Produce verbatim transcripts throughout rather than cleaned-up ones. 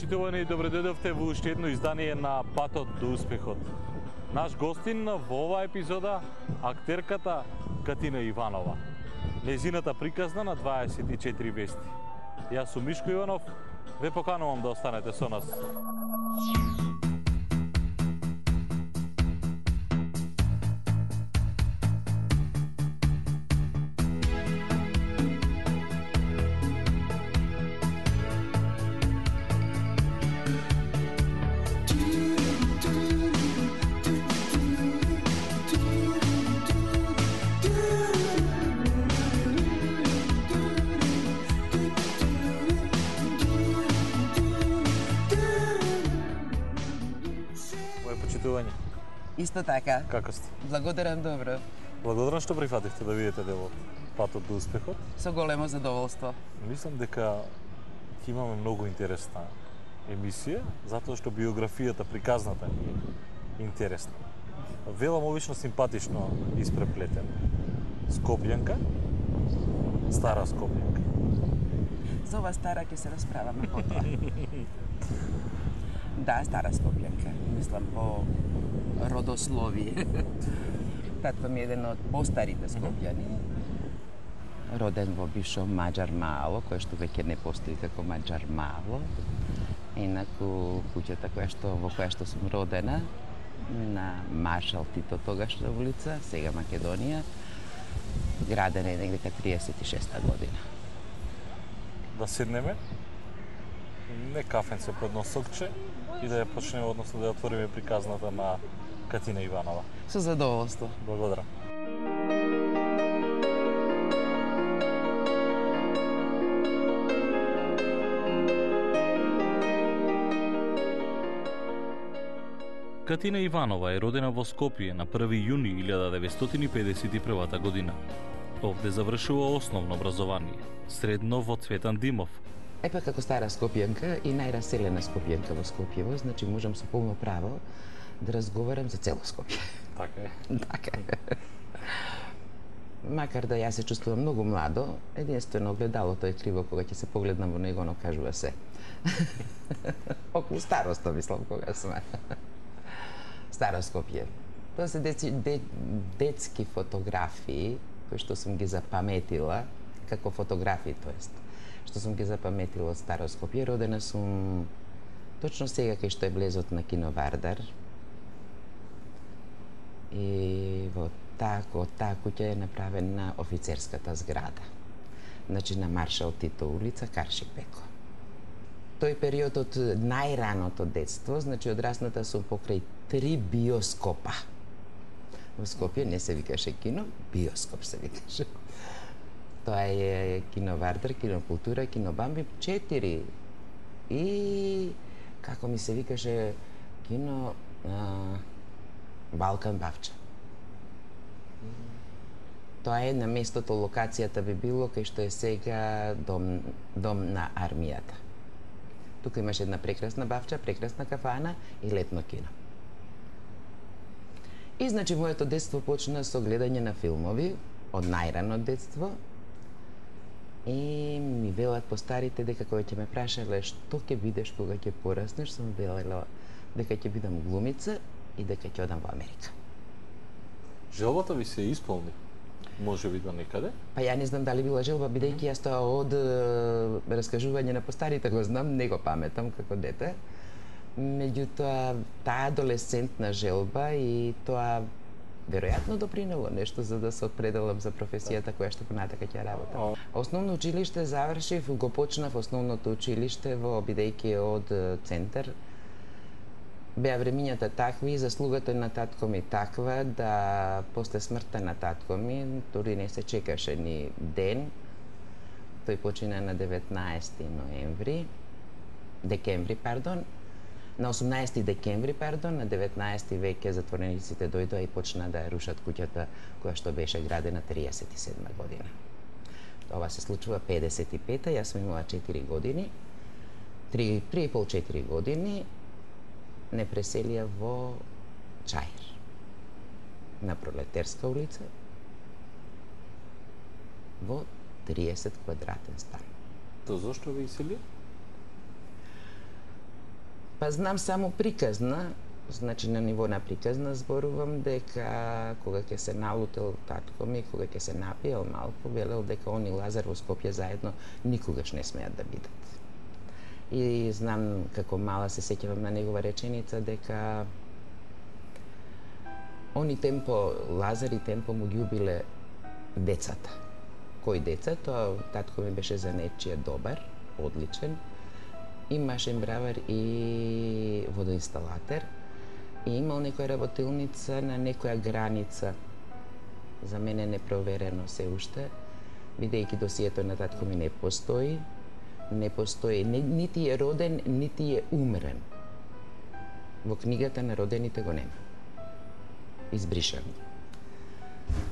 почитувани, добре дојдовте во уште едно издание на Патот до успехот. Наш гостин во оваа епизода, актерката Катина Иванова. Незината приказна на дваесет и четири вести. Јас сум Мишко Иванов, ве поканувам да останете со нас. Исто така. Како сте? Благодарам добро. Благодарам што прифативте да видите делот Патот до успехот. Со големо задоволство. Мислам дека ќе имаме многу интересна емисија, затоа што биографијата, приказната ни е интересна. Велам обично симпатично испреплетен. Скопјанка, стара Скопјанка. За ова стара ќе се расправаме потоа. Да, стара Скопјанка. Мислам по родословие. Татко ми е еден од постарите скопјани. Роден во бившо Маџар Мало, кој што веќе не постои како Маџар Мало. Инаку куќата која што во која што сум родена на Маршал Тито тогашна улица, сега Македонија, градена е негде триесет и шеста година. Да седнеме, не кафенце под носокче и да ја почнеме, односно да ја отвориме приказната на Катина Иванова. Со задоволство. Благодарам. Катина Иванова е родена во Скопје на први јуни илјада деветстотини и педесет и прва година. Овде завршува основно образование, средно во Цветан Димов. Епа како стара Скопјанка и најраселена Скопјанка во Скопјево, значи можам со полно право да разговарам за цело Скопје. Така е. Така е. Макар да јас се чувствувам многу младо, единствено огледалото е криво кога ќе се погледнам во него, но кажува се. Околу староста, мислам, кога сме. Старо Скопје. Тоа се деци, де, детски фотографии, кои што сум ги запаметила, како фотографии, тоест, што сум ги запаметила од Старо Скопје. Родена сум точно сега кај што е влезот на кино Вардар. И во тако, таа куќа е направена офицерската зграда. Значи на Маршал Тито улица, Карши Пеко. Тој период од најраното детство, значи одрасната сум покрај три биоскопа. Во Скопје не се викаше кино, биоскоп се викаше. Тоа е кино Вардар, кино Култура, кино Бамби, четири. И како ми се викаше кино а, Балкан Бавча. Тоа е на местото, локацијата би било кај што е сега дом, дом на армијата. Тука имаше една прекрасна бавча, прекрасна кафана и летно кино. И значи моето детство почна со гледање на филмови од најрано детство. И ми велат постарите дека кога ќе ме прашале што ќе бидеш кога ќе пораснеш, сум велела дека ќе бидам глумица и дека ќе одам во Америка. Желбата ви се исполни? Може би до некаде? Па ја не знам дали била желба, бидејќи јас тоа од е, раскажување на постарите го знам, не го паметам како дете. Меѓутоа, таа адолесцентна желба и тоа веројатно допринело нешто за да се определам за професијата која што понатака ќе работам. Основно училиште завршив, го почнав основното училиште во, бидејќи од центар. Беа времињата такви и заслугата на татко ми таква да после смртта на татко ми, дури не се чекаше ни ден, тој почина на деветнаесети ноември, декември, пардон, на осумнаесети декември, пардон, на деветнаесети веќе затворениците дојдоа и почна да ја рушат куќата која што беше градена триесет и седма година. Ова се случува педесет и пета, јас сум имала четири години, три и пол четири години, не преселија во Чаир, на Пролетерска улица, во триесет квадратен стан. То зошто ви исели? Па знам само приказна, значи на ниво на приказна зборувам дека кога ќе се налутел татко ми, кога ќе се напиел малку, велел дека он и Лазар во Скопје заедно никогаш не смеат да бидат. И знам како мала се сеќавам на негова реченица дека они темпо, Лазар и темпо му ги убиле децата. Кои деца? Тоа татко ми беше за нечија добар, одличен, и машин бравар и водоинсталатер, и имал некоја работилница на некоја граница, за мене непроверено се уште, бидејќи досието на татко ми не постои, не постои, не, нити е роден, нити е умрен. Во книгата на родените го нема. Избришан.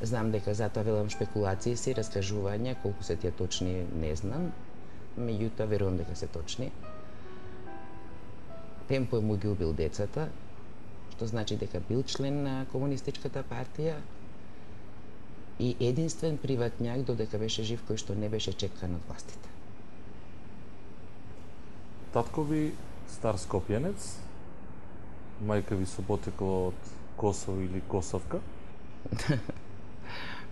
Знам дека затоа велам шпекулации си, раскажувања, колку се тие точни не знам, меѓутоа верувам дека се точни. Темпо му ги убил децата, што значи дека бил член на Комунистичката партија и единствен приватњак додека беше жив кој што не беше чекан од властите. Татко ви стар скопјанец, мајка ви со потекло од Косово или Косовка?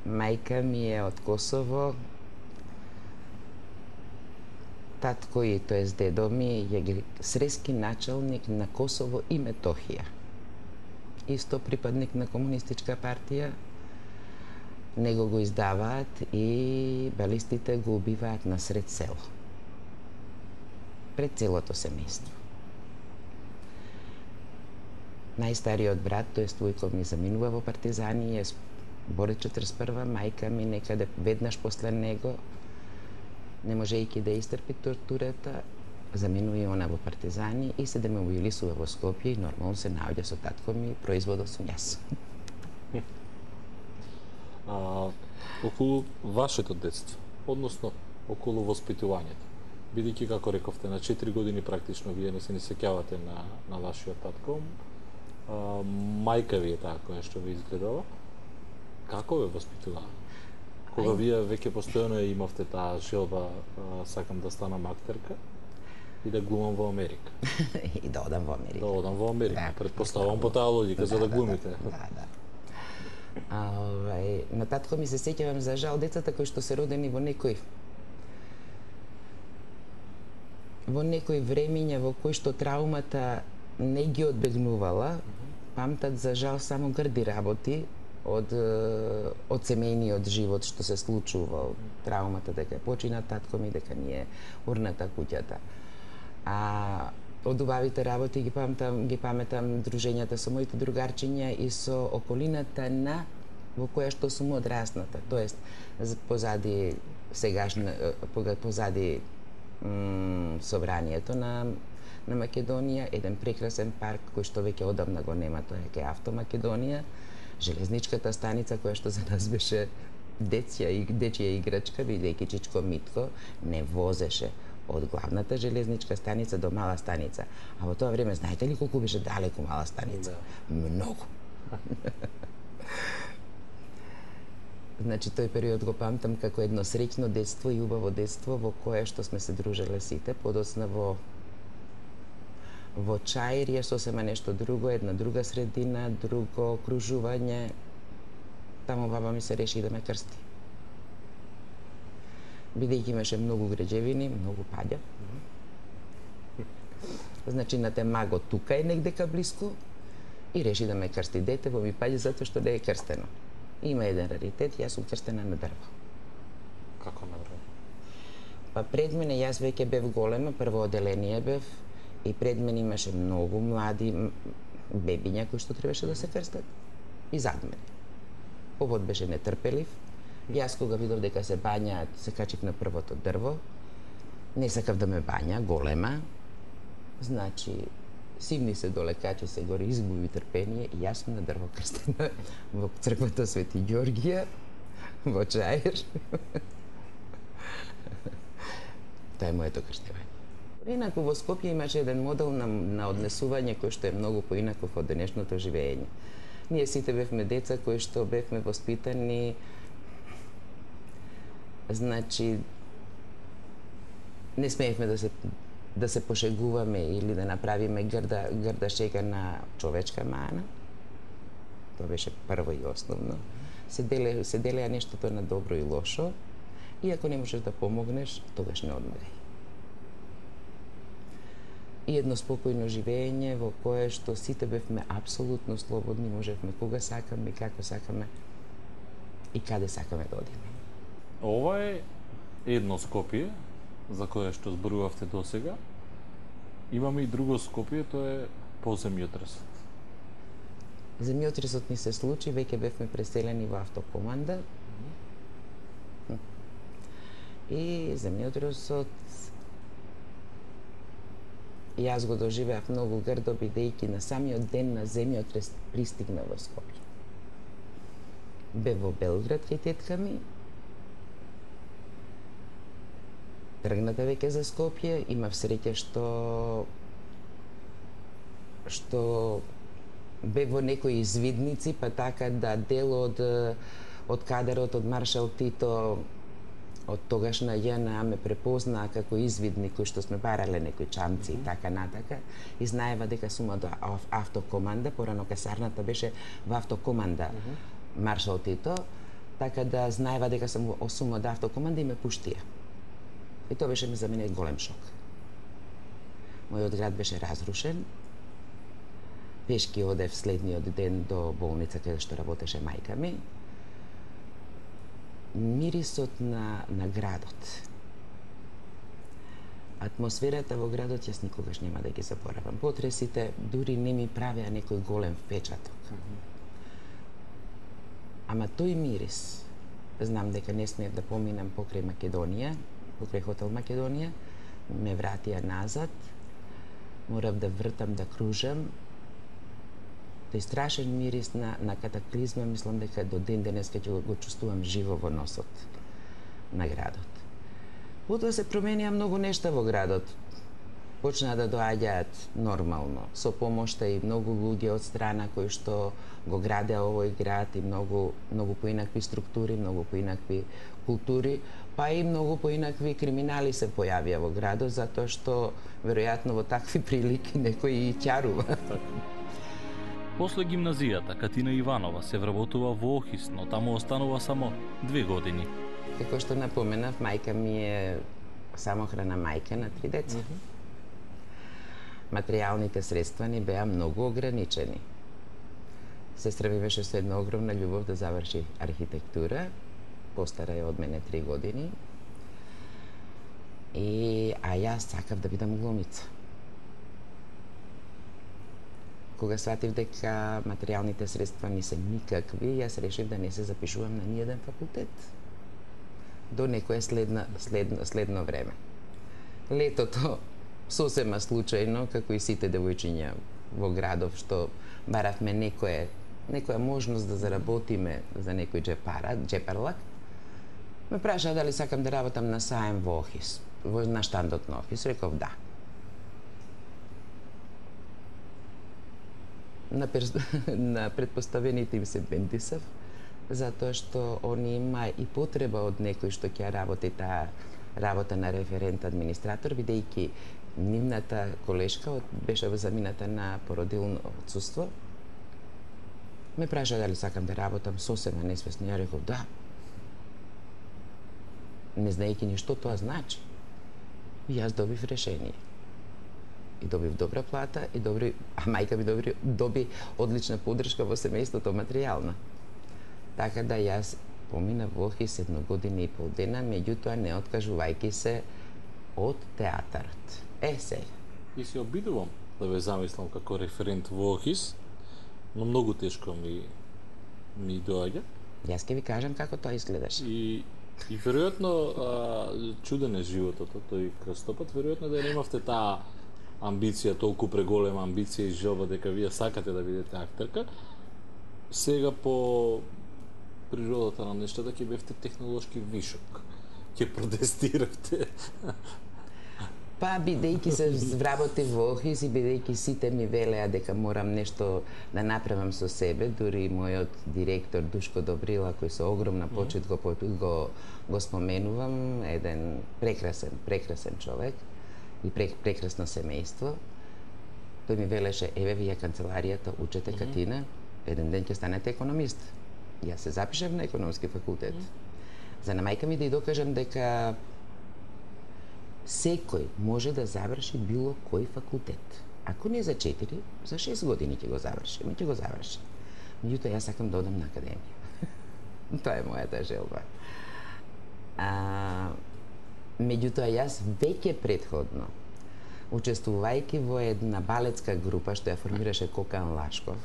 Мајка ми е од Косово, татко и тоест дедо ми е срески началник на Косово и Метохија. Исто припадник на Комунистичка партија, него го издаваат и балистите го убиваат на сред село. Пред целото семејство. Најстариот брат, тоест војков ми заминува во партизани, е борец четиридесет и прва, мајка ми некаде веднаш после него, не можејќи да истрпи тортурата, заминува и она во партизани и се демобилизува во Скопје и нормално се наоѓа со татко ми, производот сум јас. А, околу вашето детство, односно околу воспитувањето, бидејќи како рековте на четири години практично вие не се не сеќавате на на вашиот татко, а, мајка ви е таа која што ви изгледала, како ве воспитуваа? Кога Ај... вие веќе постојано ја имавте таа желба, а, сакам да станам актерка и да глумам во Америка. И да одам во Америка. Да одам во Америка. Да, Предпоставувам по таа логика, да, за да, да глумите. Да, да, да. А, овај, на татко ми се сеќавам за жал децата кои што се родени во некој во некои времиња во кои што траумата не ги одбегнувала, памтат за жал само грди работи од од семејниот живот што се случувал, траумата дека почина татко ми, дека ни е урната куќата. А од убавите работи ги памтам, ги паметам дружењата со моите другарчиња и со околината на во која што сум одрасната, тоест позади сегашна позади собранието на на Македонија, еден прекрасен парк кој што веќе одамна го нема, тоа е Автомакедонија, железничката станица која што за нас беше дечја и дечја играчка, бидејќи Чичко Митко не возеше од главната железничка станица до мала станица. А во тоа време знаете ли колку беше далеку мала станица? Да. Многу. Значи тој период го памтам како едно среќно детство и убаво детство во кое што сме се дружеле сите, подоцна во во Чаир е сосема нешто друго, една друга средина, друго окружување. Таму баба ми се реши да ме крсти. Бидејќи имаше многу граđевини, многу паѓа. Значи на те маго тука е негдека блиску и реши да ме крсти дете во ми паѓа затоа што не е крстено. Има еден раритет, јас сум крстена на дрво. Како на дрво? Па пред мене јас веќе бев голема, прво оделение бев и пред мене имаше многу млади бебиња кои што требаше да се крстат и зад мене. Повод беше нетрпелив. Јас кога видов дека се бањаат, се качив на првото дрво. Не сакав да ме бања, голема. Значи, сивни се доле, качи се горе, изгуби трпение и јас сум на дрво крстена во црквата Свети Ѓоргија, во Чаир. Тоа е моето крштевање. Инаку во Скопје имаше еден модел на, на однесување кој што е многу поинаков од денешното живење. Ние сите бевме деца кои што бевме воспитани, значи не смеевме да се да се пошегуваме или да направиме грда, грда шега на човечка мана. Тоа беше прво и основно. Се деле, се делеа нештото на добро и лошо, и ако не можеш да помогнеш, тогаш не одмагај. И едно спокојно живење во кое што сите бевме апсолутно слободни, можевме кога сакаме и како сакаме и каде сакаме да одиме. Ова е едно Скопје за кое што зборувавте досега. Имаме и друго Скопје, тоа е по земјотресот. Земјотресот ни се случи, веќе бевме преселени во автокоманда. И земјотресот јас го доживеав многу грдо, бидејќи на самиот ден на земјотрес пристигна во Скопје. Бе во Белград кај тетка ми. Тргната веќе за Скопје, имав среќа што што бе во некои извидници, па така да дел од од кадарот од Маршал Тито од тогашна Ја Н А ме препознаа како извидник кој што сме барале некои чамци mm -hmm. и така натака, и знаева дека сум од автокоманда, порано касарната беше во автокоманда mm -hmm. Маршал Тито, така да знаева дека сум, сум од автокоманда и ме пуштија. И тоа беше за мене голем шок. Мојот град беше разрушен. Пешки одев следниот ден до болница каде што работеше мајка ми. Мирисот на, на градот. Атмосферата во градот јас никогаш нема да ги заборавам. Потресите дури не ми правеа некој голем впечаток. Mm -hmm. Ама тој мирис, знам дека не смеев да поминам покрај Македонија, покрај хотел Македонија, ме вратија назад, морав да вртам, да кружам. Тој страшен мирис на, на катаклизма, мислам дека до ден денеска ќе го чувствувам живо во носот на градот. Потоа се променија многу нешта во градот. Почнаа да доаѓаат нормално, со помошта и многу луѓе од страна кои што го градеа овој град, и многу, многу поинакви структури, многу поинакви култури, па и многу поинакви криминали се појавија во градот, затоа што веројатно во такви прилики некој и ќарува. После гимназијата, Катина Иванова се вработува во Охис, но таму останува само две години. Како што напоменав, мајка ми е самохрана мајка на три деца. Mm -hmm. Материјалните средства ни беа многу ограничени. Сестра ми беше со една огромна љубов да заврши архитектура, постара е од мене три години. И а јас сакав да бидам глумица. Кога сватив дека материјалните средства не се никакви, јас решив да не се запишувам на ниеден факултет до некое следно, следно, следно време. Летото, сосема случајно, како и сите девојчиња во градов, што баравме некое, некоја можност да заработиме за некој джепара, джепарлак, ме прашаа дали сакам да работам на саем во Охис, во на штандот на Охис. Реков да. На, перс... на предпоставените им се бендисав, затоа што они има и потреба од некој што ќе работи таа работа на референт администратор, бидејќи нивната колешка беше замината на породилно отсуство. Ме праша дали сакам да работам сосема несвесно. Ја реков да. Не знаејќи ни што тоа значи. И јас добив решение. И добив добра плата, и добри, а мајка ми добри, доби одлична поддршка во семејството, материјална. Така да јас поминав во Охис едно година и пол дена, меѓутоа не откажувајќи се од театарот. Е, сега. И се обидувам да ве замислам како референт во Охис, но многу тешко ми ми доаѓа. Јас ќе ви кажам како тоа изгледаше. И и веројатно чуден е животот, тој крстопат, веројатно да немавте таа амбиција, толку преголема амбиција и желба дека вие сакате да бидете актерка. Сега по природата на нештата ќе бевте технолошки вишок. Ќе протестиравте. Па, бидејќи се вработив во Охис и бидејќи сите ми велеа дека морам нешто да направам со себе, дури мојот директор Душко Добрила, кој со огромна почит го, го, го споменувам, еден прекрасен, прекрасен човек, и прекрасно семејство, тој ми велеше, еве вие канцеларијата учете Катина, еден ден ќе станете економист. Јас се запишав на економски факултет. За на мајка ми да ја докажам дека секој може да заврши било кој факултет. Ако не за четири, за шест години ќе го заврши, ми ќе го заврши. Меѓутоа, јас сакам да одам на академија. Тоа е мојата желба. А, меѓутоа, јас веќе предходно, учествувајќи во една балетска група што ја формираше Кокан Лашков,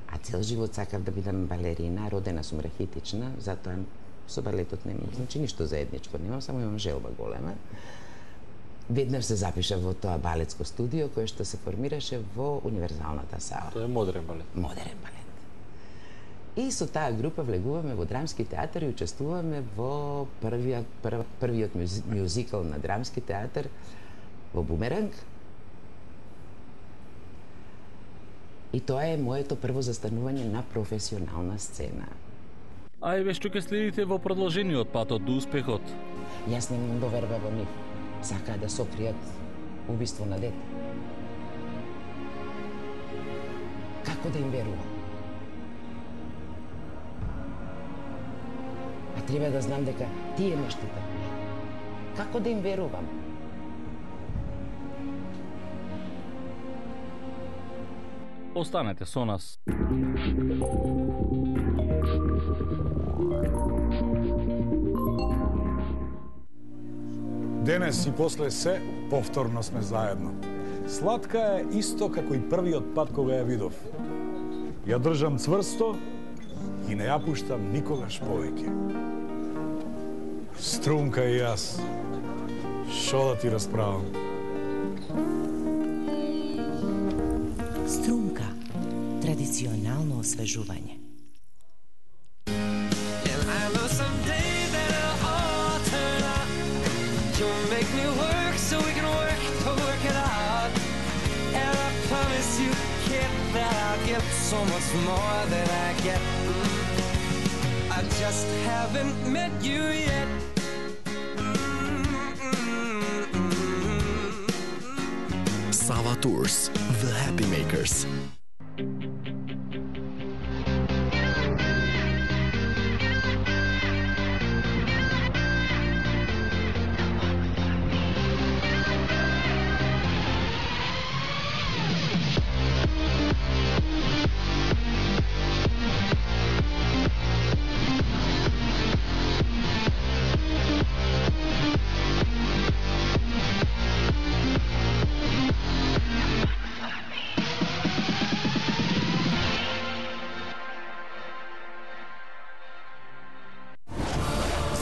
а цел живот сакав да бидам балерина, родена сум рахитична, затоа со балетот немам, значи ништо заедничко немам, само имам желба голема. Веднаш се запишав во тоа балетско студио кое што се формираше во универзалната сала. Тоа е модерен балет. Модерен балет. И со таа група влегуваме во драмски театар и учествуваме во првиот, прв, првиот мюзикл на драмски театар во Бумеранг. И тоа е моето прво застанување на професионална сцена. А еве што ќе следите во продолжениот патот до успехот? Јас немам доверба во нив. Сакаа да сокријат убиство на дете. Како да им верувам? А треба да знам дека тие ме штитат. Како да им верувам? Останете со нас. Денес и после се, повторно сме заедно. Сладка е исто како и првиот пат кога ја видов. Ја држам цврсто и не ја пуштам никогаш повеќе. Струмка и јас, шо да ти расправам? Струмка, традиционално освежување. So much more than I get. I just haven't met you yet. Sava Tours, The Happy Makers.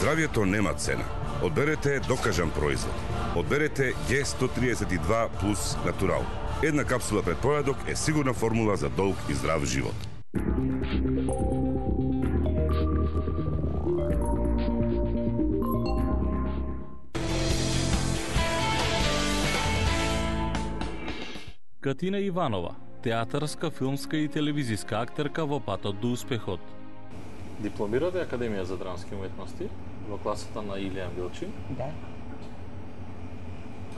Здравието нема цена. Одберете докажан производ. Одберете Г сто триесет и два плюс Натурал. Една капсула пред појадок е сигурна формула за долг и здрав живот. Катина Иванова, театарска, филмска и телевизиска актерка во патот до успехот. Дипломирате Академија за драмски уметности во класата на Илија Билчин. Да.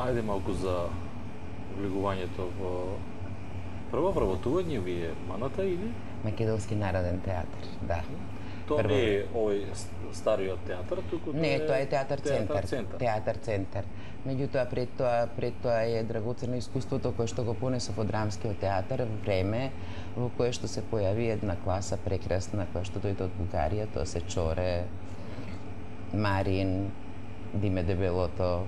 Ајде малку за влегувањето во прво вработување ви е Маната или? Македонски народен театар, да. Тоа не е овој стариот театар, туку Не, тоа е театар центар. центар. Театар центар. Меѓутоа пред тоа пред тоа е драгоцено искуството кое што го понесов од драмскиот театар, време во кое што се појави една класа прекрасна која што дојде од Бугарија, тоа се Чоре, Марин, Диме Дебелото,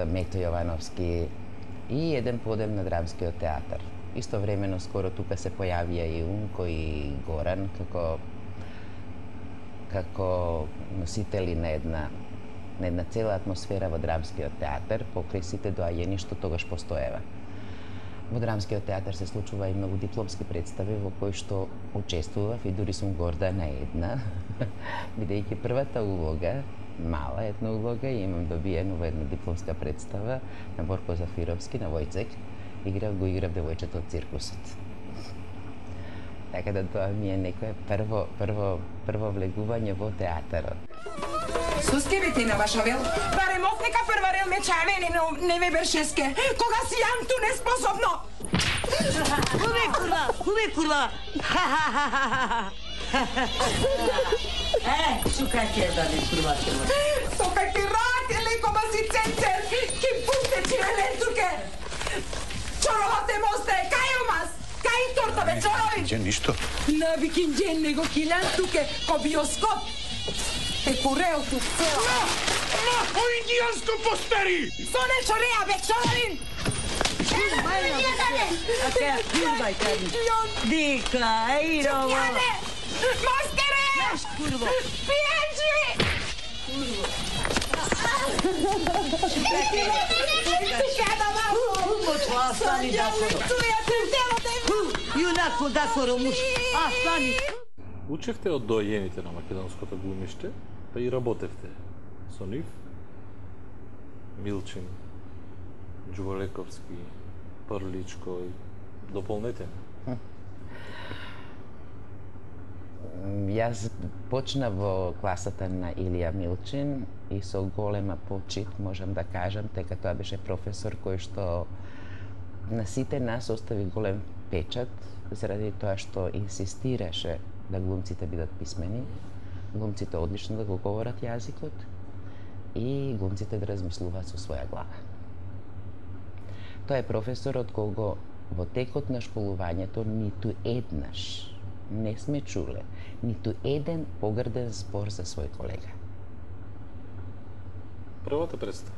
Мето Јовановски и еден подем на драмскиот театар. Истовремено скоро тука се појавија и Унко и Горан како како носители на една на една цела атмосфера во драмскиот театар, покрај сите доаѓања што тогаш постоева. Во драмскиот театар се случува и многу дипломски представи во кои што учествував и дури сум горда на една, бидејќи првата улога, мала една улога, и имам добиено во една дипломска представа на Борко Зафировски, на Војцек, играв го играв девојчето од циркусот. Така да тоа ми е некое прво прво прво влегување во театарот. Со скебите на ваша вел? Барем овнека прва рел ме чавени, но не ве бершеске. Кога си јанту неспособно. Уве курва, уве курва. Е, шука ќе да ви курва ќе. Тока ќе рак, леко маси ценцер. Ки пунте чи елентруке. Чоровате мосте, кај умас? Кај торта бе чорови? Ќе ништо. На викинџен него килан туке, ко биоскоп. Е курел ту цела. На, на, о индијанско постери! Соне чореја бе чоровин. А ке курва ќе. Дика, ејро. Мастере! Наш курво. Пијанџи! Аслани дакоро. Јунако дакоро муш. Аслани. Учевте од доајените на македонското глумиште, па и работевте со нив. Милчин, Ѓуволековски, Прличко, дополнете. Јас почнав во класата на Илија Милчин и со голема почит можам да кажам, дека тоа беше професор кој што на сите нас остави голем печат заради тоа што инсистираше да глумците бидат писмени, глумците одлично да го говорат јазикот и глумците да размислуваат со своја глава. Тоа е професор од кого во текот на школувањето ниту еднаш не сме чуле ниту еден погрден збор за свој колега. Првата представа?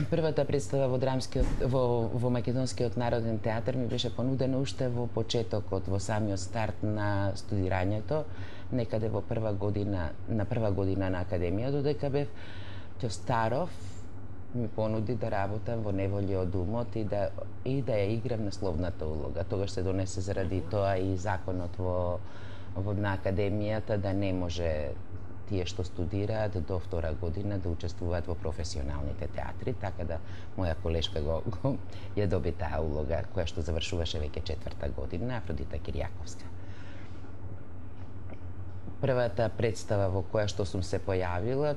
Првата представа во драмскиот во во Македонскиот народен театар ми беше понудена уште во почетокот, во самиот старт на студирањето, некаде во прва година, на прва година на академија, додека бев Ќостаров ми понуди да работам во Неволје од умот и да и да ја играм насловната улога. Тогаш се донесе заради тоа и законот во во на академијата да не може тие што студираат до втора година да учествуваат во професионалните театри, така да моја колешка го, го ја доби таа улога која што завршуваше веќе четврта година, Афродита Киријаковска. Првата представа во која што сум се појавила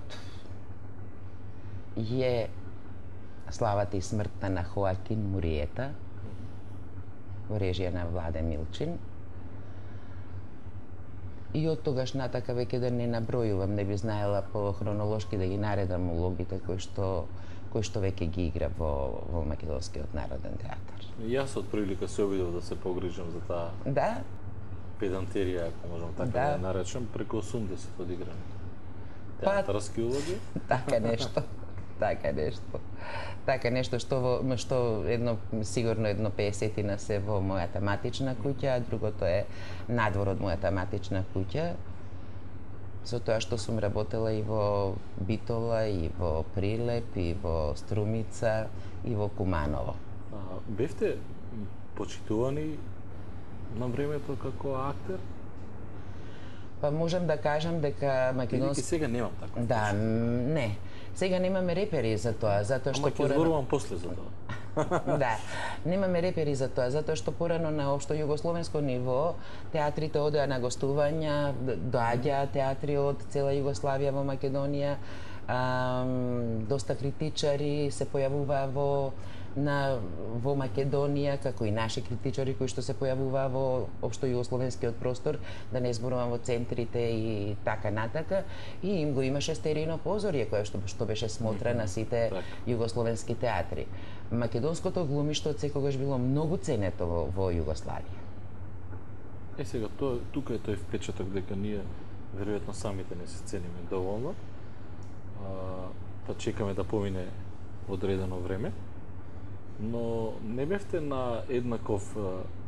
е Славата и смртта на Хоакин Муриета во режија на Владе Милчин. И од тогаш натака веќе да не набројувам, не би знаела по хронолошки да ги наредам улогите кои што кои што веќе ги игра во во Македонскиот народен театар. Јас од прилика се обидов да се погрижам за таа Да? педантерија, ако можам така да, да наречам, преку осумдесет одиграни театарски улоги. Така нешто. Така нешто. Така нешто што во што едно сигурно едно песетина се во мојата матична куќа, а другото е надвор од мојата матична куќа. Со тоа што сум работела и во Битола, и во Прилеп, и во Струмица, и во Куманово. А, бевте почитувани на времето како актер? Па можам да кажам дека македонски... Или сега немам така. Да, не. Сега немаме репери за тоа, затоа што порано... Ама ќе зборувам после за тоа. Да, немаме репери за тоа, затоа што порано на општо југословенско ниво театрите одеа на гостувања, доаѓаа театри од цела Југославија во Македонија, ам, доста критичари се појавуваа во на во Македонија, како и наши критичари кои што се појавуваа во општо југословенскиот простор, да не зборувам во центрите и така натака, и им го имаше стерино позорје кое што што беше смотра на сите југословенски театри. Македонското глумиште од секогаш било многу ценето во, во Југославија. Е сега тоа тука е тој впечаток дека ние веројатно самите не се цениме доволно. А, па чекаме да помине одредено време. Но не бевте на еднаков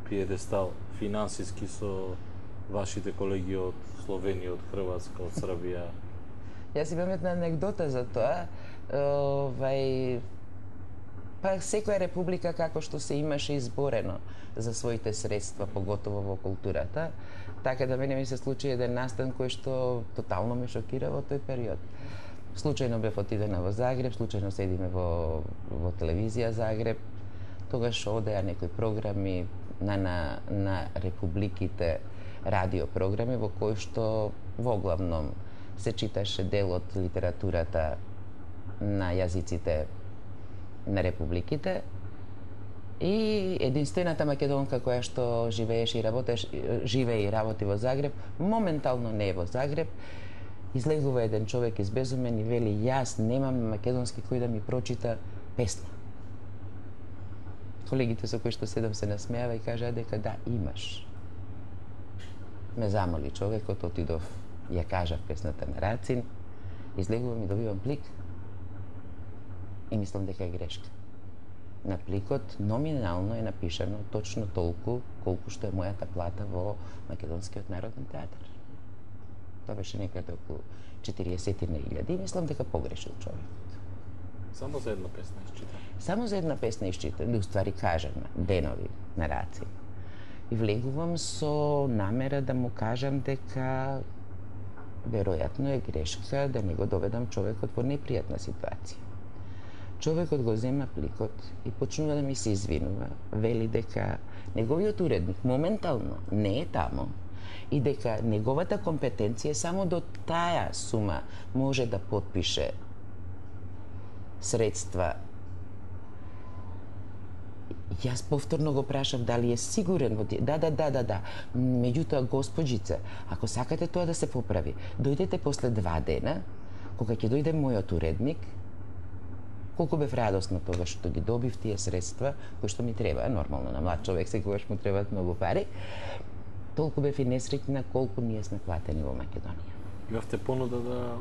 пиедестал финансиски со вашите колеги од Словенија, од Хрватска, од Србија? Јас имам една анегдота за тоа. Овај па секоја република како што се имаше изборено за своите средства, поготово во културата, така да мене ми се случи еден настан кој што тотално ме шокира во тој период. Случајно бев отидена во Загреб, случајно седиме во, во телевизија Загреб, тогаш одеа некои програми на, на, на републиките, радиопрограми, во кои што во главном се читаше дел од литературата на јазиците на републиките и единствената македонка која што живееше и работеше, живее и работи во Загреб, моментално не е во Загреб. Излегува еден човек избезумен и вели: јас немам македонски кој да ми прочита песна. Колегите со кои што седам се насмеава и кажа дека да, имаш. Ме замоли човекот, отидов, ја кажав песната на Рацин, излегувам и добивам плик и мислам дека е грешка. На пликот номинално е напишано точно толку колку што е мојата плата во Македонскиот народен театар. Тоа беше некаде околу четириесет илјади и мислам дека погрешил човекот. Само за една песна изчита. Само за една песна изчита, да уствари кажам денови на Рацин. И влегувам со намера да му кажам дека веројатно е грешка да не го доведам човекот во непријатна ситуација. Човекот го зема пликот и почнува да ми се извинува, вели дека неговиот уредник моментално не е тамо и дека неговата компетенција само до таа сума може да потпише средства. Јас повторно го прашав дали е сигурен во тие. Да, да, да, да, да. Меѓутоа, господжица, ако сакате тоа да се поправи, дојдете после два дена, кога ќе дојде мојот уредник. Колку бев радосна тогаш што ги добив тие средства, кои што ми треба, нормално на млад човек секогаш му требаат многу пари, толку бев и несреќна колку ние сме платени во Македонија. Имавте понуда да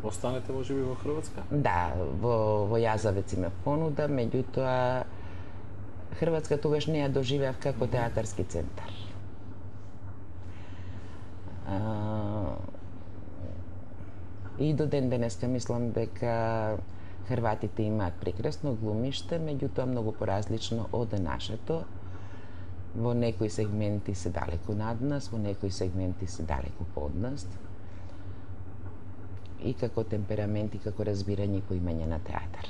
останете можеби во Хрватска? Да, во, во Јазавец имав понуда, меѓутоа Хрватска тогаш не ја доживеав како театарски центар. А, и до ден денеска мислам дека Хрватите имаат прекрасно глумиште, меѓутоа многу поразлично од нашето. Во некои сегменти се далеку над нас, во некои сегменти се далеку под нас. И како темперамент, и како разбирање и поимање на театар.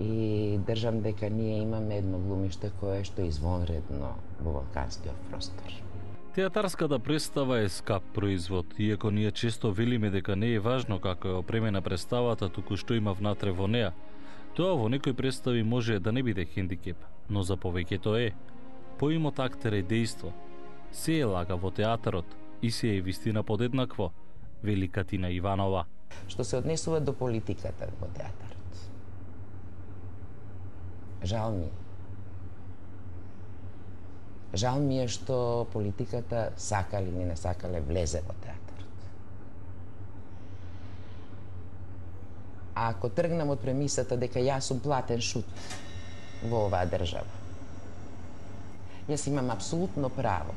И држам дека ние имаме едно глумиште кое што е извонредно во балканскиот простор. Театарската представа е скап производ, иако ние често велиме дека не е важно како е опремена представата, туку што има внатре во неа. Тоа во некои представи може да не биде хендикеп, но за повеќето е. Поимот актер е дејство. Се е лага во театарот и се е вистина подеднакво, вели Катина Иванова. Што се однесува до политиката во театарот. Жал ми е. Жал ми е што политиката, сакале или не сакале, влезе во театарот. А ако тргнам од премисата дека јас сум платен шут во оваа држава, јас имам апсолутно право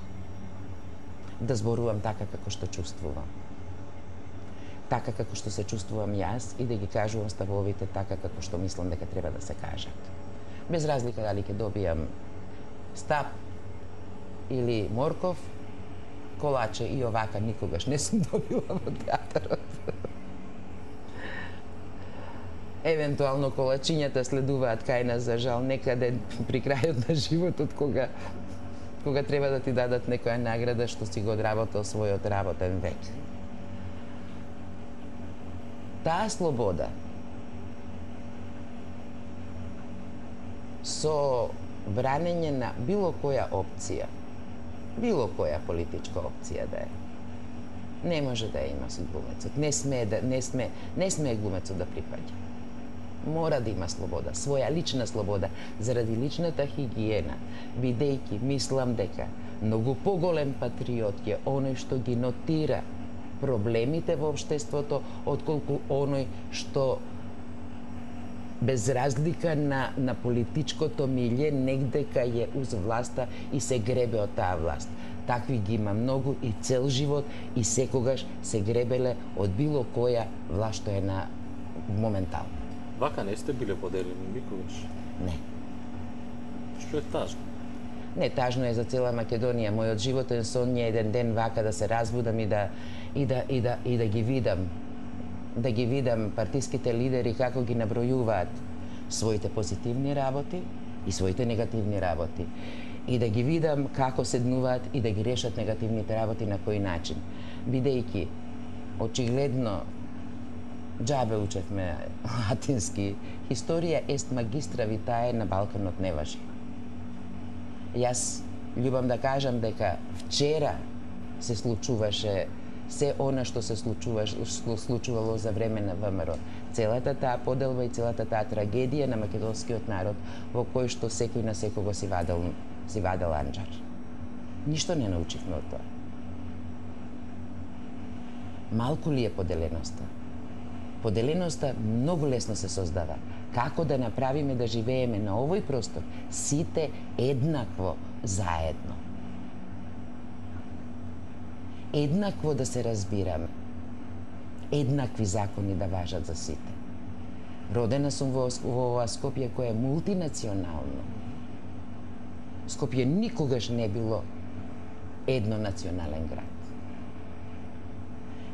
да зборувам така како што чувствувам. Така како што се чувствувам јас и да ги кажувам ставовите така како што мислам дека треба да се кажат. Без разлика дали ќе добијам стап или морков, колаче и овака никогаш не сум добила во театарот. Евентуално колачињата следуваат кај нас, за жал, некаде при крајот на животот, кога кога треба да ти дадат некоја награда што си го одработил својот работен век. Таа слобода со бранење на било која опција, било која политичка опција да е, не може да ја има со глумецот. Не сме да не сме не сме глумецот да припаѓа. Мора да има слобода, своја лична слобода, заради личната хигиена, бидејќи мислам дека многу поголем патриот е оној што ги нотира проблемите во општеството, отколку оној што без разлика на, на политичкото милје негде кај е уз власта и се гребе од таа власт. Такви ги има многу и цел живот и секогаш се гребеле од било која власт што е на моментално. Вака не сте биле поделени никогаш? Не. Што е тажно? Не, тажно е за цела Македонија. Мојот животен сон е еден ден вака да се разбудам и да и да и да и да ги видам да ги видам партиските лидери како ги набројуваат своите позитивни работи и своите негативни работи. И да ги видам како седнуваат и да ги решат негативните работи на кој начин. Бидејќи очигледно џабе учевме латински, историја ест магистра витае на Балканот не важи. Јас љубам да кажам дека вчера се случуваше се она што се случуваше, случувало за време на ВМРО. Целата таа поделба и целата таа трагедија на македонскиот народ во кој што секој на секого си вадел, си вадел анџар. Ништо не научивме од тоа. Малку ли е поделеноста? Поделеноста многу лесно се создава. Како да направиме да живееме на овој простор сите еднакво заедно? Еднакво да се разбираме. Еднакви закони да важат за сите. Родена сум во, во ова Скопје кое е мултинационално. Скопје никогаш не било еднонационален град.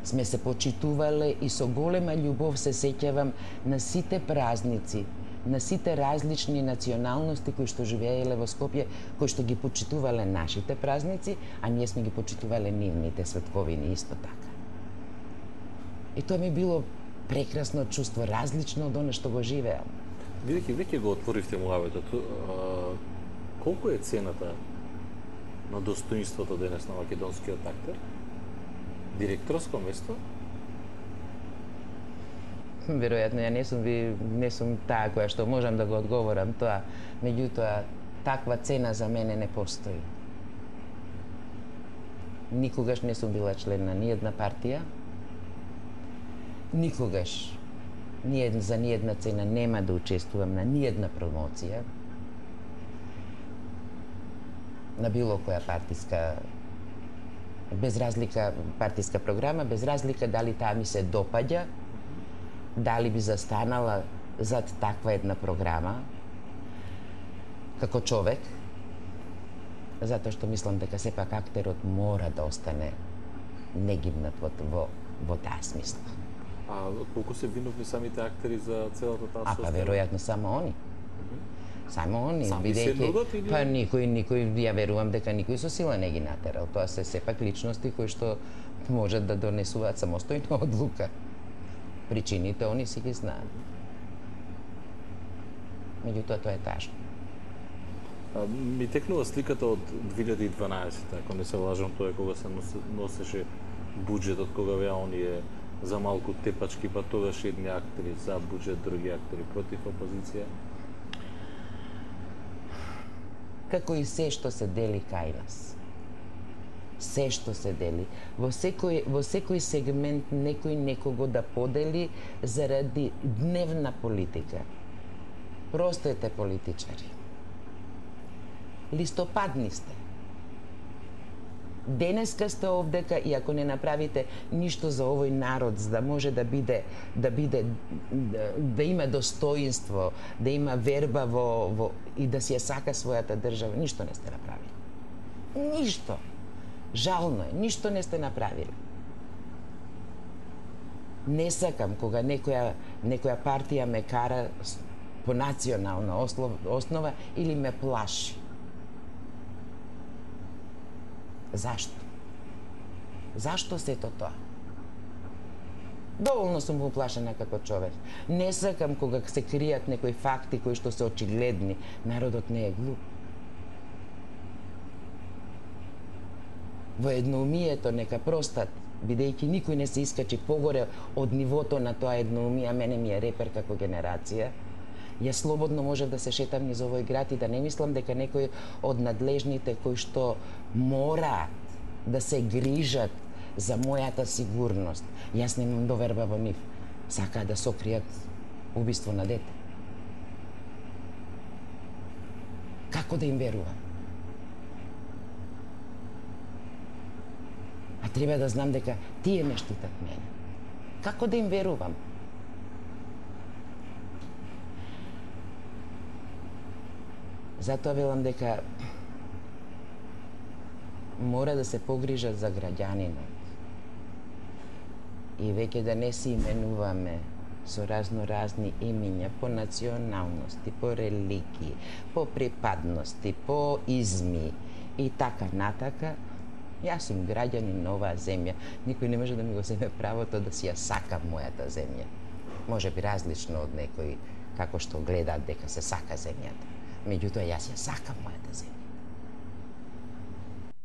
Сме се почитувале и со голема љубов се сеќавам на сите празници, на сите различни националности кои што живееле во Скопје, кои што ги почитувале нашите празници, а ние сме ги почитувале нивните светковини исто така. И тоа ми било прекрасно чувство, различно од оно што го живеам. Бидејќи веќе го отворивте муавето, колку е цената на достоинството денес на македонскиот актер? Директорско место? Веројатно ја не сум ви не сум таа која што можам да го одговорам тоа, меѓутоа таква цена за мене не постои. Никогаш не сум била член на ниедна партија. Никогаш ниед, за ниедна цена нема да учествувам на ниедна промоција на било која партиска, без разлика партиска програма, без разлика дали таа ми се допаѓа, дали би застанала зад таква една програма како човек, затоа што мислам дека сепак актерот мора да остане негибнат во, во, во таа смисла. А колку се виновни самите актери за целата таа состојба? А па веројатно само они. Само они, бидејќи па никој никој ја верувам дека никој со сила не ги натерал. Тоа се сепак личности кои што можат да донесуваат самостојна одлука. Причините они си ги знаат. Меѓутоа тоа е тажно. А, ми текнува сликата од две илјади и дванаесетта, ако не се лажам, тоа е кога се носеше буџетот, кога беа оние за малку тепачки, па тогаш едни актери за буџет, други актери против опозиција. Како и се што се дели кај нас. Се што се дели. Во секој, во секој сегмент некој некого да подели заради дневна политика. Простете политичари. Листопадни сте. Денеска сте овдека и ако не направите ништо за овој народ, за да може да биде да биде да, да има достоинство, да има верба во, во и да си ја сака својата држава, ништо не сте направили. Ништо. Жално е, ништо не сте направили. Не сакам кога некоја некоја партија ме кара по национална основа или ме плаши. Зашто? Зашто сето тоа? Доволно сум уплашена како човек. Не сакам кога се кријат некои факти кои што се очигледни. Народот не е глуп. Во едноумието нека простат, бидејќи никој не се искачи погоре од нивото на тоа едноумие, мене ми е репер како генерација. Јас слободно можев да се шетам низ овој град и да не мислам дека некој од надлежните кои што мораат да се грижат за мојата сигурност. Јас немам доверба во нив. Сакаат да сокријат убиство на дете. Како да им верувам? А треба да знам дека тие ме штитат мене. Како да им верувам? Затоа велам дека мора да се погрижат за граѓанинот. И веќе да не се именуваме со разноразни имиња по националности, по религии, по припадности, по изми и така натака, Јас сум граѓанин на оваа земја. Никој не може да ми го земе правото да си ја сакам мојата земја. Може би различно од некои како што гледаат дека се сака земјата. Меѓутоа, јас ја сакам мојата земја.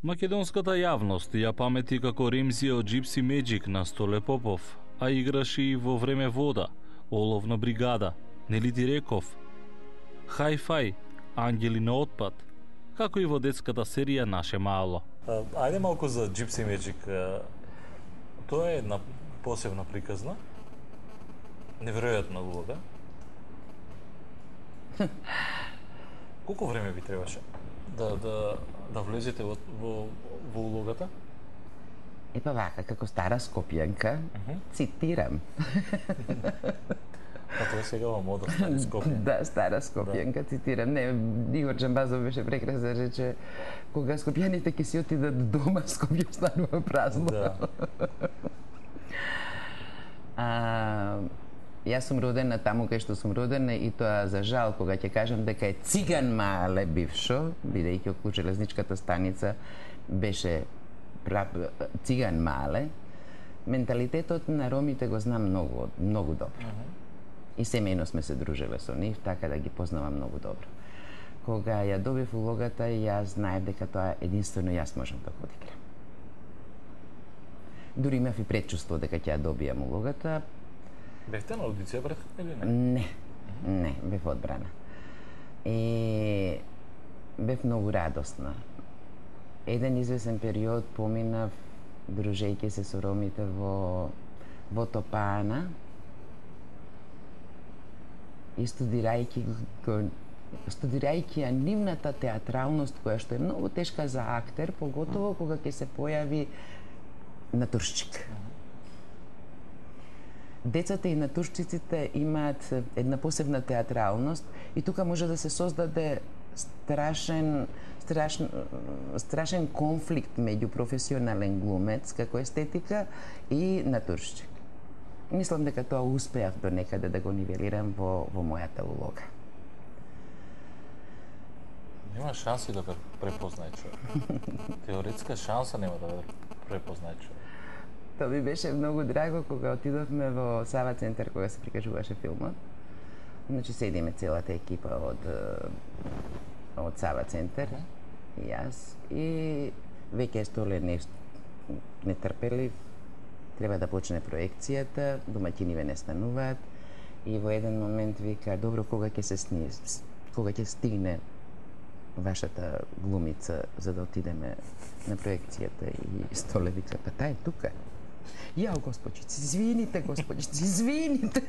Македонската јавност ја памети како Ремзија од Gypsy Magic на Столе Попов, а играше и во време вода, Оловна бригада, Нели ти реков, Хај-фај, Ангели на отпад, како и во детската серија Наше мало. Ајде малку за Gypsy Magic. Тоа е една посебна приказна. Неверојатна улога. Колку време ви требаше да да да влезете во во, во улогата? Епа вака, како стара скопјанка, uh-huh. цитирам. А тоа сега во мода стари скопјанка. Да, стара скопјанка, да. Цитирам. Не, Игор Джамбазов беше прекрасен, рече, кога скопјаните ќе си отидат дома, Скопје станува празно. Да. а, Јас сум родена таму кај што сум родена и тоа за жал кога ќе кажам дека е циган мале бившо, бидејќи околу железничката станица беше прав... циган мале, менталитетот на ромите го знам многу, многу добро. Uh-huh. И семејно сме се дружеле со нив, така да ги познавам многу добро. Кога ја добив улогата, јас знаев дека тоа единствено јас можам да го одиграм. Дури имав и предчувство дека ќе ја добијам улогата. Бевте на аудиција пред или не? Не, не, бев одбрана. И бев многу радосна. Еден извесен период поминав дружејќи се со ромите во во Топана и студирајќи го студирајќи ја нивната театралност која што е многу тешка за актер, поготово кога ќе се појави натуршчик. Децата и натуршчиците имаат една посебна театралност и тука може да се создаде страшен страшен страшен конфликт меѓу професионален глумец како естетика и натуршчик. Мислам дека тоа успеав до некаде да го нивелирам во во мојата улога. Нема шанси да ве препознае човек. Теоретска шанса нема да ве препознае човек. Тоа ми беше многу драго кога отидовме во Сава центар кога се прикажуваше филмот. Значи седиме целата екипа од од Сава центар и јас и веќе Столе не нетрпелив, треба да почне проекцијата, домаќиниве не стануваат и во еден момент вика добро кога ќе се сни, кога ќе стигне вашата глумица за да отидеме на проекцијата и Столе вика па таа е тука. Јао, господјици, извините, господјици, извините.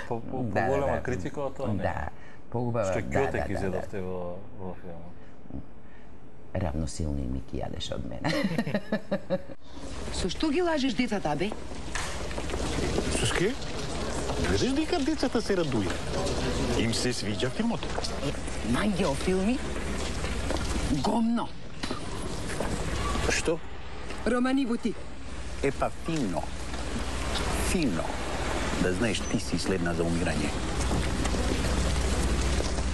По-голема критика од тоа, не? Да, поубава, Што да, да, ќе да, изедовте во во филмот? Равносилни ми ки јадеше од мене. Со што ги лажеш децата, бе? Со ски? Гледаш дека децата се радуја. Им се свиѓа филмот. Мангео филми? Гомно. Што? Романи бути. Епа фино. Фино. Да знаеш ти си следна за умирање.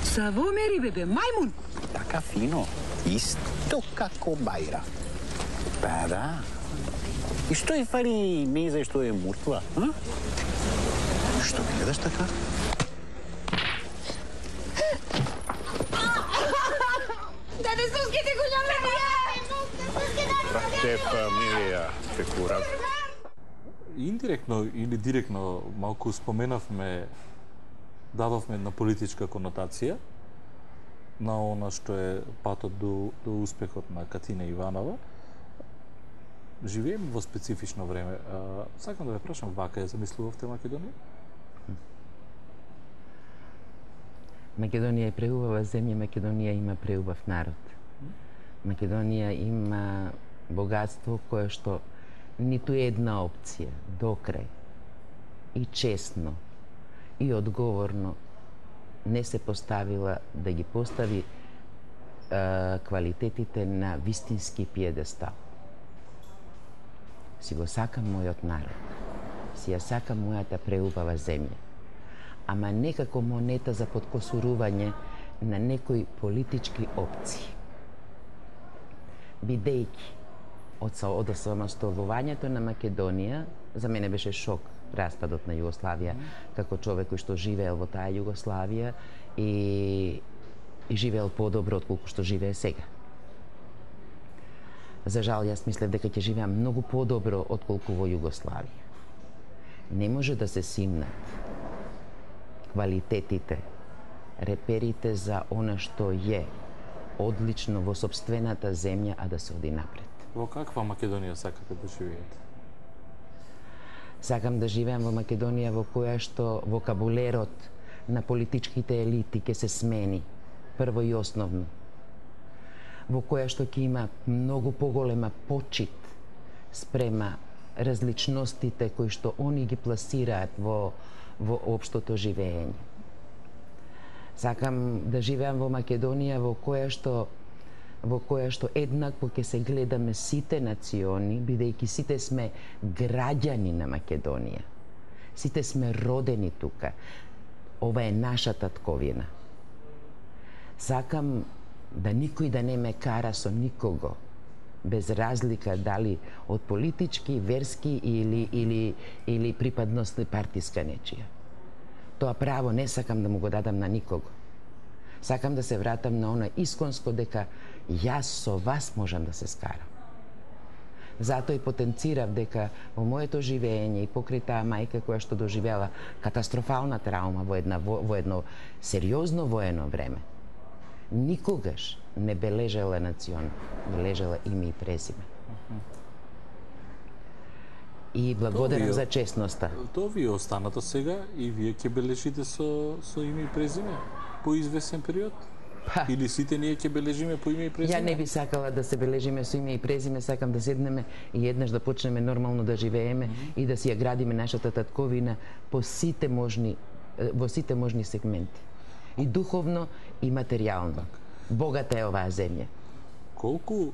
Савомери, бебе, мајмун. Така фино. Исто како Бајра. Па да. И што е фали меза што е мртва, а? Што гледаш така? Даде суските го љаме! Брате, фамилија, пекурав. Индиректно или директно малку споменавме, дадовме една политичка конотација на она што е патот до, до успехот на Катина Иванова. Живееме во специфично време. А, сакам да ве прашам, вака ја замислувавте Македонија? Македонија е преубава земја, Македонија има преубав народ. Македонија има богатство кое што ниту една опција докрај и честно и одговорно не се поставила да ги постави е, квалитетите на вистински пиедестал. Си го сакам мојот народ, си ја сакам мојата преубава земја, ама не како монета за подкосурување на некои политички опции. Бидејќи од од осамосталувањето на Македонија, за мене беше шок распадот на Југославија, како човек кој што живеел во таа Југославија и, и живеел подобро отколку што живее сега. За жал, јас мислев дека ќе живеам многу подобро отколку во Југославија. Не може да се симнат квалитетите, реперите за она што е одлично во сопствената земја, а да се оди напред. Во каква Македонија сакате да живеете? Сакам да живеам во Македонија во која што вокабулерот на политичките елити ќе се смени, прво и основно. Во која што ќе има многу поголема почит спрема различностите кои што они ги пласираат во, во општото живење. Сакам да живеам во Македонија во која што во која што еднакво ќе се гледаме сите национи, бидејќи сите сме граѓани на Македонија. Сите сме родени тука. Ова е наша татковина. Сакам да никој да не ме кара со никого, без разлика дали од политички, верски или, или, или припадност партиска нечија. Тоа право не сакам да му го дадам на никого. Сакам да се вратам на она исконско дека јас со вас можам да се скарам. Затоа и потенцирав дека во моето живење и покрај таа мајка која што доживела катастрофална травма во, една, во, во едно сериозно воено време, никогаш не бележела национ, бележела име и презиме. И благодарам за честноста. Тоа ви останато сега и вие ќе бележите со, со име и презиме по извесен период? Па. Или сите ние ќе бележиме по име и презиме? Ја не би сакала да се бележиме со име и презиме, сакам да седнеме и еднаш да почнеме нормално да живееме mm -hmm. и да си ја градиме нашата татковина по сите можни, во сите можни сегменти. И духовно и материјално. Богата е оваа земја. Колку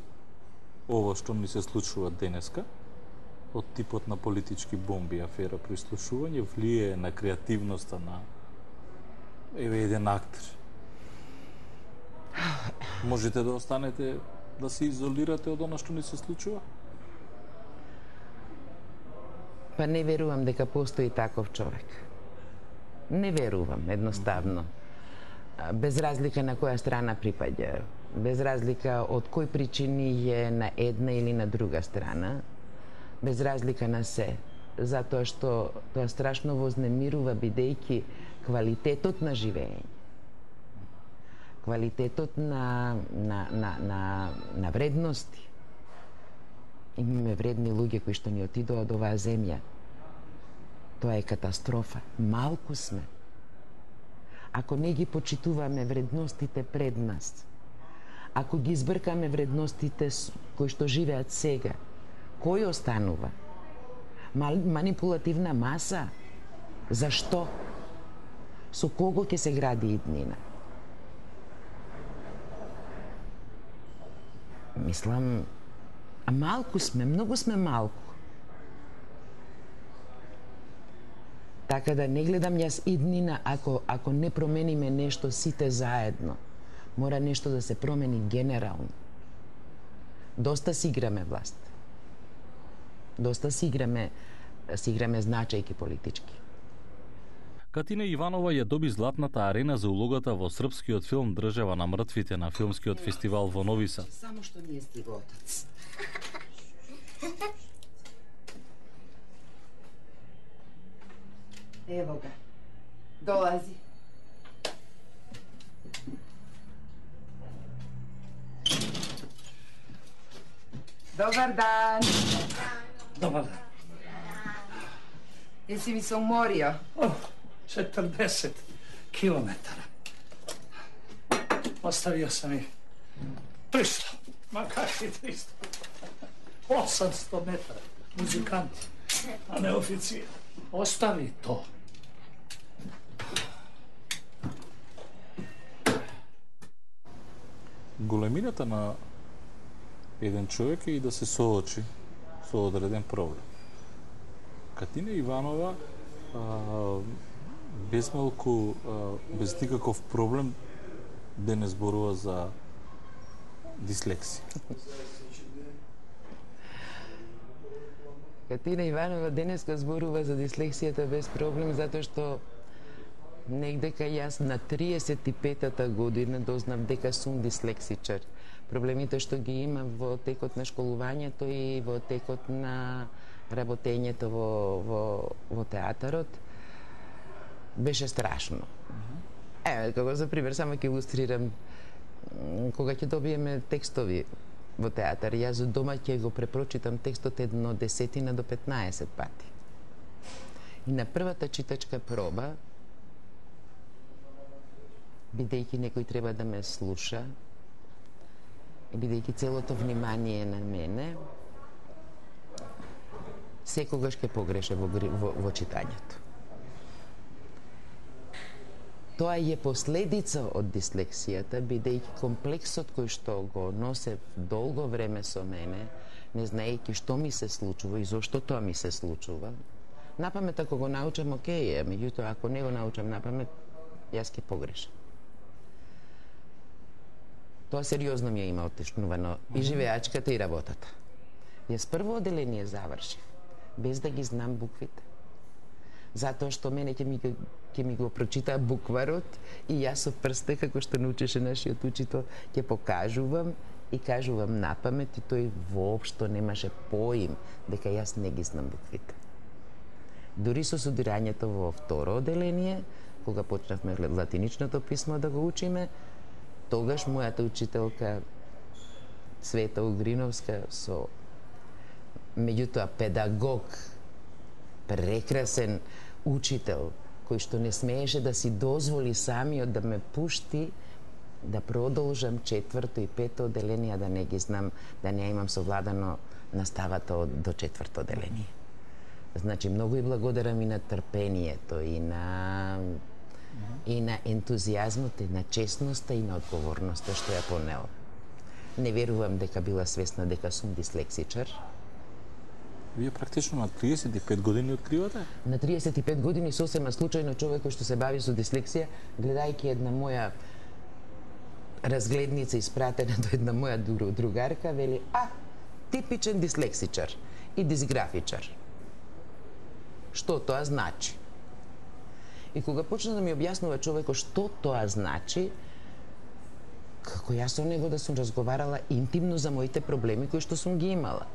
ова што ни се случува денеска, од типот на политички бомби, афера, прислушување, влие на креативноста на еве еден актер? Можете да останете, да се изолирате од она што ни се случува? Па не верувам дека постои таков човек. Не верувам, едноставно. Без разлика на која страна припаѓа, без разлика од кој причини е на една или на друга страна, без разлика на се, затоа што тоа страшно вознемирува бидејќи квалитетот на живење, квалитетот на, на, на, на, на вредности. Имаме вредни луѓе кои што ни отидоа од оваа земја. Тоа е катастрофа. Малку сме. Ако не ги почитуваме вредностите пред нас, ако ги избркаме вредностите кои што живеат сега, кој останува? Манипулативна маса? Зашто? Со кого ќе се гради иднина? Мислам, а малку сме, многу сме малку. Така да не гледам јас иднина ако, ако не промениме нешто сите заедно. Мора нешто да се промени генерално. Доста си играме власт. Доста си играме, си играме значајки политички. Катина Иванова ја доби златната арена за улогата во српскиот филм Држава на мртвите на филмскиот фестивал во Нови Сад. Само што не е стиго отец. Ево ga. Долази. Добар дан. Добар дан. Еси ми се уморио? О, четрдесет километара. Оставио сам и триста, ма какви триста? осамсто метра, музиканти, а не официр. Остави то. Големината на еден човек е и да се соочи со одреден проблем. Катина Иванова а, без малку, а, без никаков проблем денес зборува за дислексија. Катина Иванова денеска зборува за дислексијата без проблем, затоа што негдека јас на триесет и петата година дознав дека сум дислексичар. Проблемите што ги имам во текот на школувањето и во текот на работењето во, во, во театарот беше страшно. Е, како за пример, само ќе илустрирам, кога ќе добиеме текстови во театар, јас дома ќе го препрочитам текстот едно десетина до петнаесет пати. И на првата читачка проба, бидејќи некој треба да ме слуша, и бидејќи целото внимание на мене, секогаш ќе погреше во, во, во читањето. Тоа е последица од дислексијата, бидејќи комплексот кој што го носе долго време со мене, не знаејќи што ми се случува и зошто тоа ми се случува. Напамет ако го научам, окей е, меѓутоа ако не го научам напамет, јас ќе погрешам. Тоа сериозно ми е има отешнувано и живеачката и работата. Јас прво оделение завршив, без да ги знам буквите. Затоа што мене ќе ми, ќе ми го прочитаа букварот и јас со прсте, како што научеше нашиот учител, ќе покажувам и кажувам напамет и тој воопшто немаше поим дека јас не ги знам буквите. Дури со студирањето во второ оделение, кога почнавме латиничното писмо да го учиме, тогаш мојата учителка Света Угриновска со меѓутоа педагог, прекрасен учител, кој што не смееше да си дозволи самиот да ме пушти да продолжам четврто и пето оделение, да не ги знам, да не имам совладано наставата од, до четврто оделение. Значи, многу и благодарам и на трпението, и на и на ентузијазмот, и на честноста, и на одговорноста што ја понела. Не верувам дека била свесна дека сум дислексичар. Вие практично на триесет и пет години откривате? На триесет и пет години сосема случајно човек кој што се бави со дислексија, гледајќи една моја разгледница испратена до една моја другарка, вели: "А, типичен дислексичар и дисграфичар." Што тоа значи? И кога почна да ми објаснува човекот што тоа значи, како јас со него да сум разговарала интимно за моите проблеми кои што сум ги имала.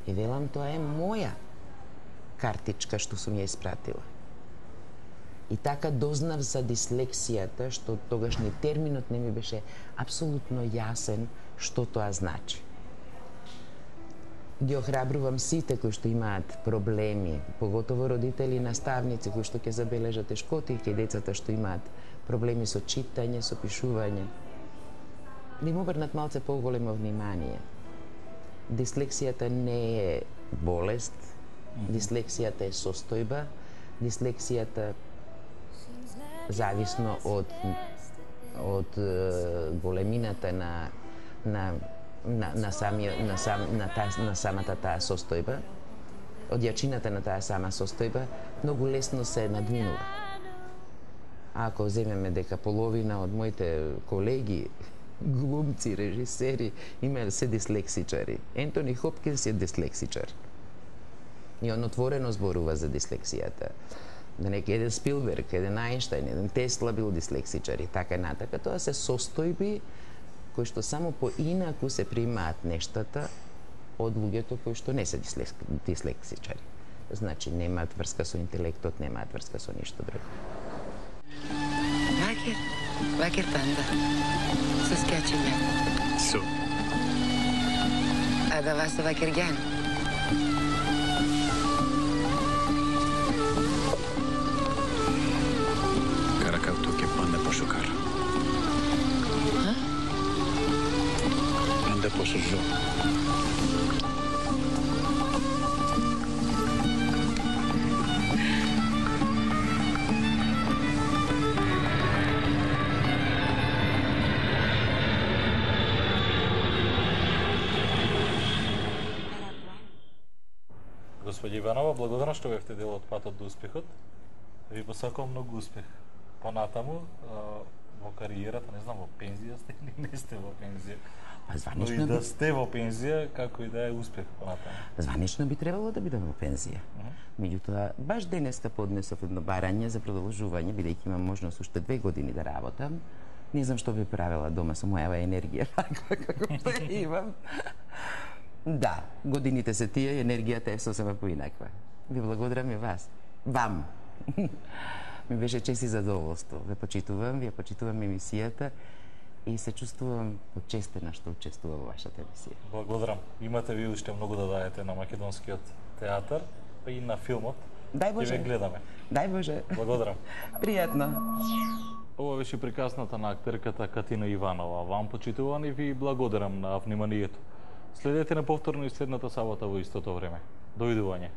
И велам, тоа е моја картичка што сум ја испратила. И така дознав за дислексијата, што тогаш ни терминот не ми беше апсолутно јасен што тоа значи. Ги охрабрувам сите кои што имаат проблеми, поготово родители и наставници кои што ќе забележат тешкоти кај децата што имаат проблеми со читање, со пишување, да им обрнат малце поголемо внимание. Дислексијата не е болест, дислексијата е состојба, дислексијата зависно од од големината на на на на самиот на сам на таа на самата таа состојба, од јачината на таа сама состојба, многу лесно се надминува. А ако земеме дека половина од моите колеги, глумци, режисери, имаат се дислексичари. Ентони Хопкинс е дислексичар. И он отворено зборува за дислексијата. Да неки еден Спилберг, еден Ајнштајн, еден Тесла бил дислексичар и така натака. Тоа се состојби кои што само поинаку се примаат нештата од луѓето кои што не се дислексичари. Значи, немаат врска со интелектот, немаат врска со ништо друго. Vaker, vaker panda. Saskatchewan. So. A da vas vaker gan. Karakautu ke panda pošukar. Ha? Panda pošužo. Господи Иванова, благодарам што бевте дел од патот до успехот. Ви посакувам многу успех. Понатаму, во кариерата, не знам, во пензија сте или не сте во пензија? Па Но званично и да би, сте во пензија, како и да е успех понатаму. званично би требало да бидам во пензија. Меѓутоа, баш денеска поднесов едно барање за продолжување, бидејќи имам можност уште две години да работам. Не знам што би правела дома со мојава енергија, таква како што ја имам. Да, годините се тие, енергијата е сосема поинаква. Ви благодарам и вас. Вам. Ми беше чест и задоволство. Ве почитувам, ви ја почитувам емисијата и се чувствувам почестена што учествувам во вашата емисија. Благодарам. Имате ви уште многу да даете на македонскиот театар, па и на филмот. Дај Боже. Ќе ве гледаме. Дај Боже. Благодарам. Пријатно. Ова беше приказната на актерката Катина Иванова. Вам почитувани и ви благодарам на вниманието. Следете на повторно и следната сабота во истото време. Довидување.